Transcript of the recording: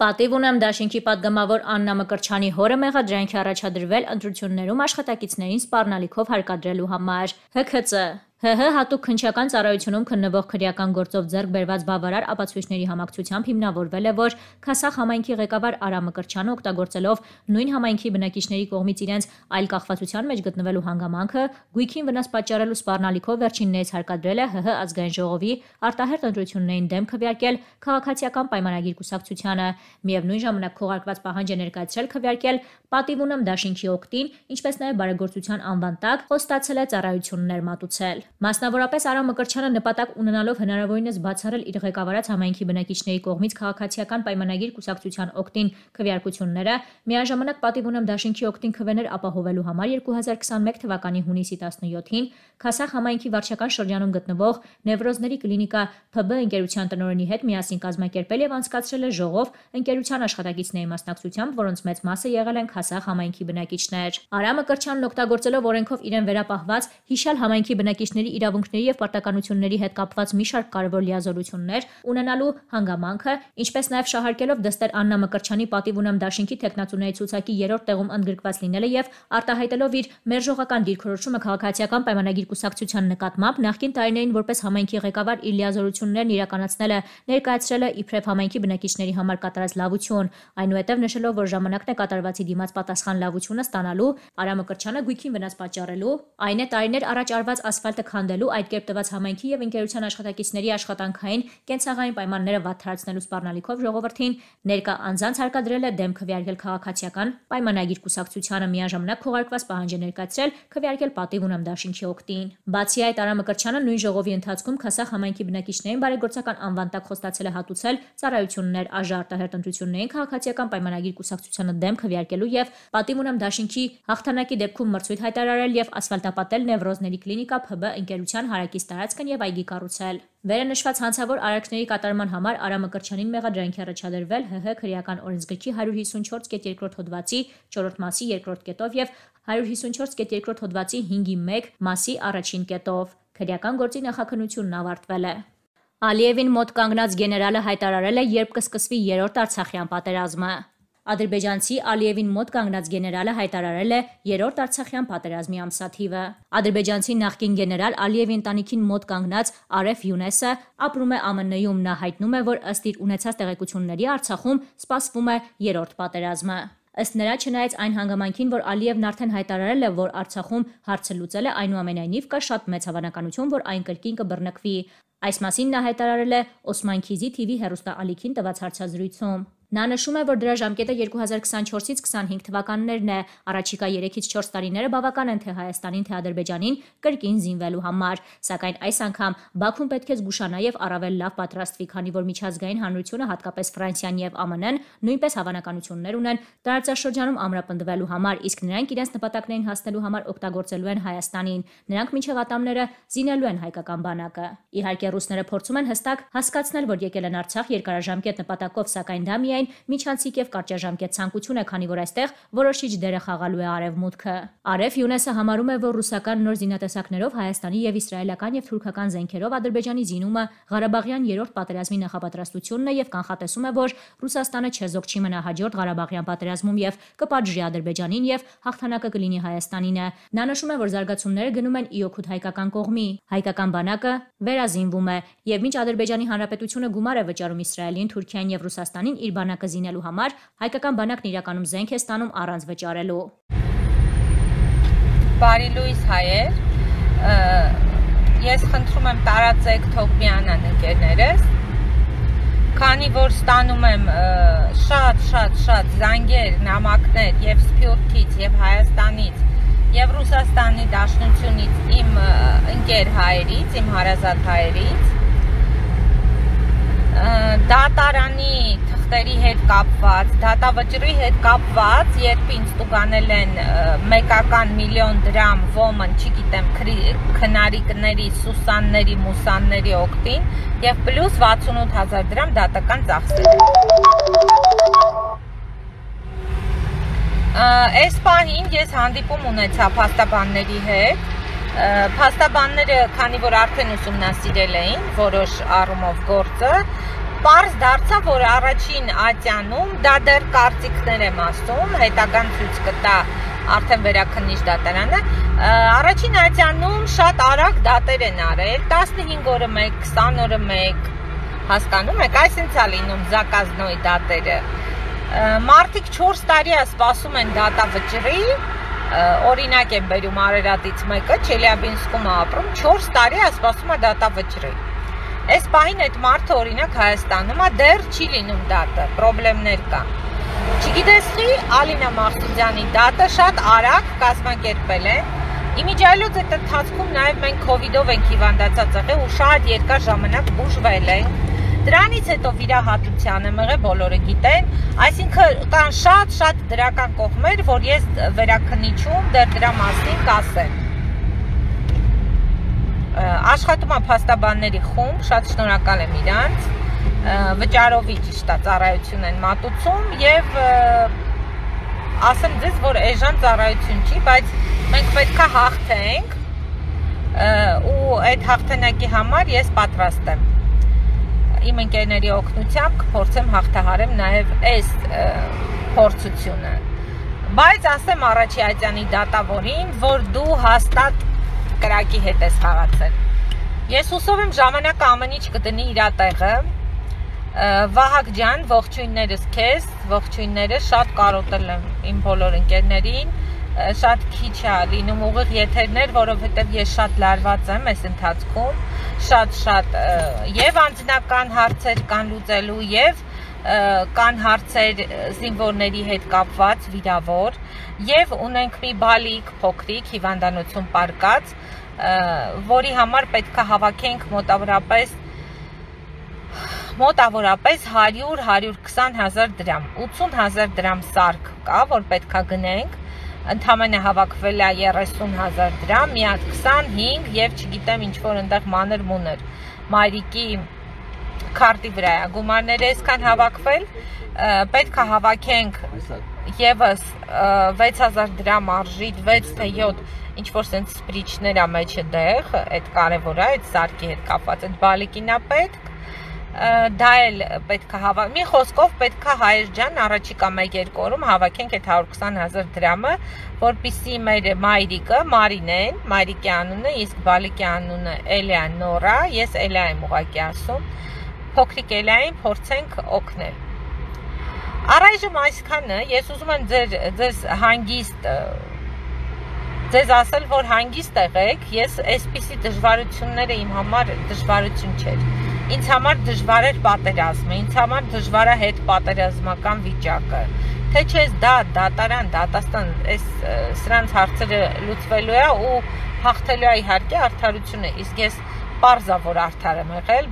Պատիվ ունեմ դաշինքի պատգամավոր Աննա Մկրտչյանի հորը մեղադրանքի առաջադրվել ընտրություններում աշխատակիցներին սպառնալիքով հարկադրելու համար։ ՀՔԾ ՀՀ հատուկ քննչական ծառայությունում քննվող քրեական գործով ձեռք բերված բավարար ապացույցների համակցությամբ հիմնավորվել է, որ Քասախ համայնքի ղեկավար Արա Մկրտչյանը օգտագործելով նույն համայնքի բնակիչների կողմից իրենց այլ կախվածության մեջ գտնվելու հանգամանքը գույքին վնաս պատճառելու սպառնալիքով վերջիններս հարկադրել է ՀՀ ազգային ժողովի արտահերթ ընտրություններին դեմ քվեարկել քաղաքացիական պայմանագիր կուսակցությանը, միևնույն ժամանակ քողարկված պահանջ է ներկայացրել քվեարկել պատիվ ունեմ դաշինքի օգտին, ինչպես նաև բարեգործության անվան տակ խոստացել է ծառայություններ մատուցել։ Մասնավորապես Արա Մկրտչյանը նպատակ ունենալով հնարավորինս բացառել իր ղեկավարած համայնքի բնակիչների կողմից քաղաքացիական պայմանագիր կուսակցության օգտին քվեարկությունները, միաժամանակ պատիվ ունեմ դաշինքի օգտին քվեներ ապահովելու համար 2021 թվականի հունիսի 17-ին Քասախ համայնքի վարչական շրջանում գտնվող Նևրոզների կլինիկա ՓԲ ընկերության տնօրենի հետ միասին կազմակերպել եւ անցկացրել է ժողով ընկերության աշխատակիցների մասնակցությամբ, որոնց մեծ մասը եղել են Քասախ համայնքի բնակիչներ։ Արա Մկրտչյանն օգտագործելով օրենքով իրեն վերապահված հիշյալ համայնքի բնակիչների իրավունքների եւ պարտականությունների հետ կապված մի շարք կարևոր լիազորություններ ունենալու հանգամանքը, ինչպես նաև շահարկելով դստեր Աննա Մկրտչյանի պատիվ ունեմ դաշինքի տեխնացուների ցուցակի 3-րդ տեղում ընդգրկված լինելը եւ արտահայտելով իր մերժողական դիրքորոշումը քաղաքացիական պայմանագիր կուսակցության նկատմամբ նախկին տարիներին որպես համայնքի ղեկավար իր լիազորություններն իրականացնելը ներկայացրել է իբրև համայնքի բնակիչների համար կատարած լավություն, այնուհետև նշելով, որ ժամանակն է կատարվածի դիմաց պատասխան լավությունը ստանալու, Արա Մկրտչյանը գույքին վնաս պատճառելու, այն է տարիներ առաջ արված ասֆալտը քանդելու, այդ կերպ տված համայնքի եւ ընկերության աշխատակիցների աշխատանքային կենցաղային պայմանները վատթարացնելու սպառնալիքով ժողովրդին ներկա անձանց հարկադրել է դեմ քվեարկել քաղաքացիական պայմանագիր կուսակցությանը, միաժամանակ քողարկված պահանջ է ներկայացրել քվեարկել պատիվ ունեմ դաշինքի օգտին։ Բացի այդ, Արա Մկրտչյանը նույն ժողովի ընթացքում Քասախ համայնքի բնակիչներին բարեգործական անվան տակ խոստացել է հատուցել ծառայություններ ԱԺ արտահերթ ընտրություններին քաղաքացիական պայմանագիր կուսակցությանը դեմ քվեարկելու եւ պատիվ ունեմ դաշինքի հաղթանակի դեպքում մրցույթ հայտարարել եւ ասֆալտապատել Նևրոզների կլինիկա ՓԲ ընկերության հարակից տարածքն եւ այգի կառուցել։ Վերը նշված հանցավոր արարքների կատարման համար Արա Մկրտչյանին մեղադրանքի առաջադրվել ՀՀ քրեական օրենսգրքի 154.2 հոդվածի 4-րդ մասի 2-րդ կետով եւ 154.2 հոդվածի 5-1 մասի 1-ին կետով։ Քրեական գործի նախաքննությունն ավարտվել է։ Ալիևին մոտ կանգնած գեներալը հայտարարել է, երբ կսկսվի 3-րդ Արցախյան պատերազմը։ Ադրբեջանցի Ալիևին մոտ կանգնած գեներալը հայտարարել է 3-րդ Արցախյան պատերազմի ամսաթիվը։ Ադրբեջանցի նախկին գեներալ Ալիևի ընտանիքին մոտ կանգնած Արեֆ Յունեսը ապրում է ԱՄՆ-ում, նա հայտնում է, որ ըստ իր ունեցած տեղեկությունների Արցախում սպասվում է 3-րդ պատերազմը։ Ըստ նրա, չնայած այն հանգամանքին, որ Ալիևն արդեն հայտարարել է, որ Արցախում հարցը լուծել է, այնուամենայնիվ կա շատ մեծ հավանականություն, որ այն կրկին կբռնկվի։ Այս մասին նա հայտարարել է Օսման Քիզի TV հեռուստաալիքին տված հարցազրույցում։ Նա նշում է, որ դրա ժամկետը 2024-ից 25 թվականներն է, առաջիկա 3-ից 4 տարիները բավական են թե Հայաստանին, թե Ադրբեջանին կրկին զինվելու համար, սակայն այս անգամ Բաքուն պետք է զգուշանա եւ առավել լավ պատրաստվի, քանի որ միջազգային հանրությունը, հատկապես Ֆրանսիան եւ ԱՄՆ-ն նույնպես հավանականություններ ունեն տարածաշրջանում ամրապնդվելու համար, իսկ նրանք իրենց նպատակներին հասնելու համար օգտագործելու են Հայաստանին, նրանք մինչեւ ատամները զինելու են հայկական բանակը։ Իհարկե ռուսները փորձում են հստակ հասկացնել, որ եկել են Արցախ երկարաժամկետ նպատակով, սակայն դա միայն միջանցիկ եւ կարճաժամկետ ցանկություն է, քանի որ այստեղ որոշիչ դեր է խաղալու է Արևմուտքը։ Արեֆ Յունեսը համարում է, որ ռուսական նոր զինատեսակներով Հայաստանի եւ իսրայելական եւ թուրքական զենքերով Ադրբեջանի զինումը Ղարաբաղյան 3-րդ պատերազմի նախապատրաստությունն է եւ կանխատեսում է, որ Ռուսաստանը չեզոք չի մնա հաջորդ Ղարաբաղյան պատերազմում եւ կպատժի Ադրբեջանին եւ հաղթանակը կլինի Հայաստանին։ Նա նշում է, որ զարգացումները գնում են իօքուտ հայկական կողմի։ Հայկական բանակը վերազինվում է եւ մինչ Ադրբեջանի Հանրապետությունը գումար է վճարում Իսրայելին, Թուրքիային եւ Ռուսաստանին իր բանակը զինելու համար, հայկական բանակն իրականում զենք է ստանում առանց վճարելու։ Բարի լույս հայեր, ես խնդրում եմ տարածեք թող միանան ընկերներս, քանի որ ստանում եմ շատ զանգեր, նամակներ եւ Սփյուռքից եւ Հայաստանից եւ Ռուսաստանի Դաշնությունից իմ ընկեր հայերից, իմ հարազատ հայերից, դատարանի թղթերի հետ կապված, դատավճռի հետ կապված, երբ ինձ տուգանել են մեկական միլիոն դրամ ոմն, չգիտեմ, քնարիկների, սուսանների, մուսանների օգտին եւ պլյուս 68,000 դրամ դատական ծախսեր։ Այս պահին ես հանդիպում ունեցա փաստաբանների հետ, փաստաբանները, քանի որ արդեն ուսումնասիրել էին որոշ առումով գործը, Պարզ դարձավ, որ առաջին ատյանում, դա դեռ կարծիքներ եմ ասում, հետագան ցույց կտա արդեն վերաքննիչ դատարանը, առաջին ատյանում շատ արագ դատեր են արել, 15 օրը 1, 20 օրը 1, հասկանում եք, այսինչ է լինում զակազնոյի դատերը։ Մարդիկ 4 տարի է սպասում են դատավճռի, օրինակ եմ բերում Արարատից մեկը, Չելյաբինսկում է ապրում, 4 տարի է սպասում է դատավճռի։ Այս պահին այդ մարդը օրինակ Հայաստանում է, դեռ չի լինում դատը, պրոբլեմներ կա։ Չգիտես խի, Ալինա Մաղսուդյանի դատը շատ արագ կազմակերպել են։ Իմիջիայլոց այդ ընթացքում նաև մենք քովիդով ենք հիվանդացած եղել ու շատ երկար ժամանակ բուժվել ենք։ Դրանից հետո վիրահատության եմ եղել, բոլորը գիտեն, այսինքն կան շատ դրական կողմեր, որ ես վերաքննիչում դեռ դրա մասին կասեմ։ Աշխատում է փաստաբանների խումբ, շատ շնորհակալ եմ իրանց, վճարովի ճիշտ է ծառայություն են մատուցում եւ ասեմ ձեզ, որ էժան ծառայություն չի, բայց մենք պետք է հաղթենք ու այդ հաղթանակի համար ես պատրաստ եմ։ Իմ ընկերների օգնությամբ կփորձեմ հաղթահարեմ նաև այս փորձությունը։ Բայց ասեմ առաջի ատյանի դատավորին, որ դու հաստատ կրակի հետ ես խաղացել։ Ես հուսով եմ ժամանակը ամեն ինչ կդնի իր տեղը։ Վահագ ջան, ողջույններս քեզ, ողջույններս, շատ կարոտել եմ իմ բոլոր ընկերներին, շատ քիչ է լինում ուղիղ եթերներ, որովհետև ես շատ լարված եմ այս ընթացքում, շատ եւ անձնական հարցեր կան լուծելու եւ կան հարցեր զինվորների հետ կապված վիրավոր եւ ունենք մի բալիկ փոքրիկ հիվանդանոցում պարկած, որի համար պետք է հավաքենք մոտավորապես 100-120 հազար դրամ, 80 հազար դրամ սարք կա, որ պետք է գնենք, ընդամենը հավաքվել է 30 հազար դրամ, մի հատ 25 եւ չգիտեմ ինչ որ այնտեղ մանր մուներ, մայրիկի քարտի վրա է գումարները այսքան հավաքվել, պետք է հավաքենք եւս 6000 դրամ արժի 6 թե 7 ինչ որ sense սպրիչներ է մեջը դեղ, այդ կարևոր է, այդ սարքի հետ կապված, այդ բալիկին է պետք, դա էլ պետք է հավաքենք, մի խոսքով պետք է Հայեր ջան առաջիկա 1-2 օրում հավաքենք այդ 120 հազար դրամը, որպեսզի մեր մայրիկը Մարինեն, մայրիկի անունը, իսկ բալիկի անունը Էլիա Նորա, ես Էլիա եմ ուղղակի ասում, փոքրիկ Էլիային փորձենք օգնել։ Առայժմ այսքանը, ես ուզում եմ ձեզ հանգիստ ձեզ ասել, որ հանգիստ եղեք, ես այսպիսի դժվարությունները իմ համար դժվարություն չէր։ Ինձ համար դժվար էր պատերազմը, ինձ համար դժվար է հետ պատերազմական վիճակը։ Թե չէ դա դատարան, դատաստան, սրանց հարցերը լուծվելու է ու հաղթելու է իհարկե արդարությունը, իսկ ես պարզ է, որ արդար եմ եղել,